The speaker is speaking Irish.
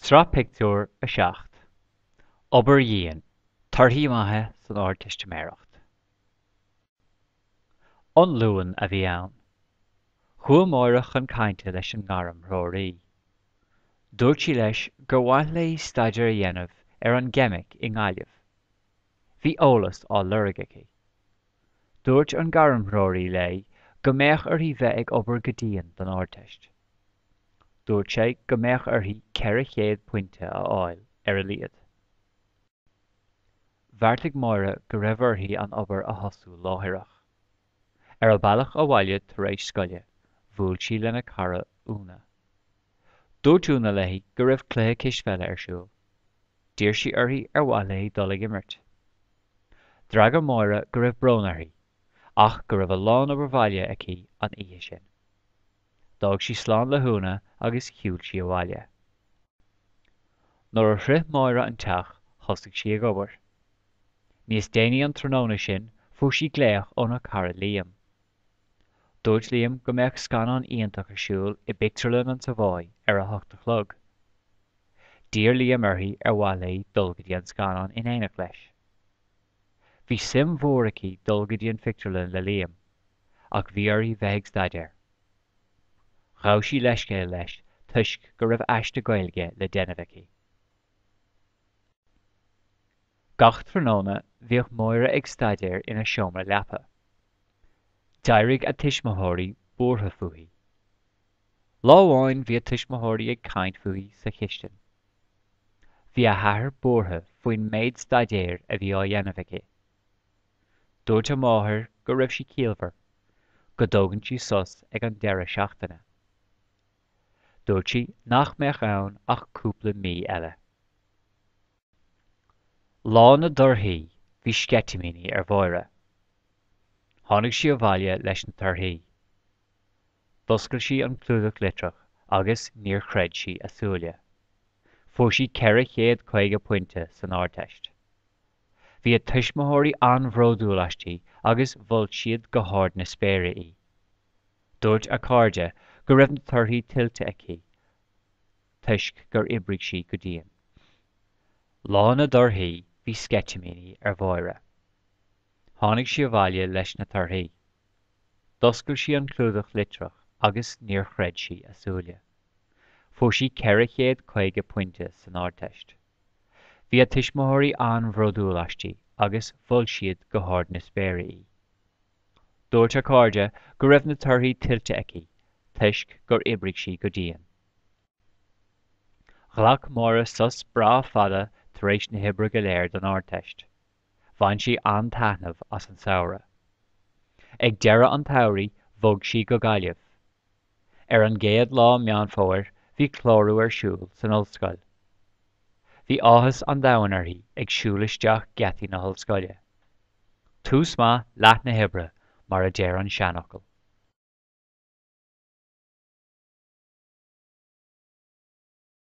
Sraith Pictiúr 7. Obair dhian, torthaí maithe san Ardteistiméireacht. An Luan a bhí ann. Chuaigh Máire chun cainte leis an ngairmthreoraí. Dúirt sí leis gur mhaith léi staidéar a dhéanamh ar an gceimic i nGaillimh. Bhí eolas á lorg aici. Dúirt an gairmthreoraí léi go mbeadh uirthi bheith ag obair go dian don Ardteist. Dúirt sé go mbeadh uirthi 400 pointe a fháil ar a laghad. Bheartaigh Máire go raibh uirthi an obair a thosú láithreach. Ar a bealach abhaile tar éis scoile, bhuail sí lena cara Úna. Dúirt Úna léi go raibh cluiche cispheile ar siúl. D'iarr sí uirthi ar mhaith léi dul ag imirt. D'fhreagair Máire go raibh brón uirthi, ach go raibh a lán obair bhaile aici an oíche sin. D'fhág sí slán le hÚna agus shiúil sí abhaile. Nuair a shroich Máire an teach thosaigh sí ag obair. Níos déanaí an tráthnóna sin fuair sí glaoch óna cara Liam. Dúirt Liam go mbeadh scannán iontach ar siúl i bpictiúrlann an Savoy ar a hocht a chlog. D'iarr Liam uirthi ar mhaith léi dul go dtí an scannán in éineacht leis. Bhí suim mhór aici dul go dtí an phictiúrlann le Liam, ach bhí uirthi bheith ag staidéar. Ghabh sí leithscéal leis toisc go raibh aiste Gaeilge le déanamh aici. Gach tráthnóna bhíodh Máire ag staidéar ina seomra leapa. D'éirigh a tuismitheoirí buartha fúithi. Lá amháin bhí a tuismitheoirí ag caint fúithi sa chistin. Bhí a hathair buartha faoin méid staidéir a bhí á dhéanamh aici. Dúirt a máthair go raibh sí ciallmhar, go dtógann sí sos ag an deireadh seachtaine. Dúirt sí nach mbeadh ann ach cúpla mí eile. Lá na dtorthaí bhí sceitimíní ar Mháire. Tháinig sí abhaile leis na torthaí. D'oscail sí an clúdach litreach agus níor chreid sí a súile. Fuair sí 450 pointe san Ardteist. Bhí a tuismitheoirí an-bhródúil aisti agus mhol siad go hard na spéire í. Dúirt a cairde go raibh na torthaí tuillte aici toisc gur oibrigh sí go dian. Lá na dtorthaí bhí sceitimíní ar Mháire. Tháinig sí abhaile leis na torthaí. D'oscail sí an clúdach litreach agus níor chreid sí a súile. Fuair sí 450 pointe san Ardteist. Bhí a tuismitheoirí an-bhródúil aisti agus mhol siad go hard na spéire í. Dúirt a cairde go raibh na torthaí tuillte aici toisc gur oibrigh sí go dian. Ghlac Máire sos breá fada tar éis na hoibre go léir don Ardteist. Bhain sí an-taitneamh as an samhradh. Ag deireadh an tsamhraidh bhog sí go Gaillimh. Ar an gcéad lá Meán Fómhair bhí clárú ar siúl san ollscoil. Bhí áthas an domhain uirthi ag siúl isteach geataí na hollscoile. Tús maith leath na hoibre mar a deir an seanfhocal.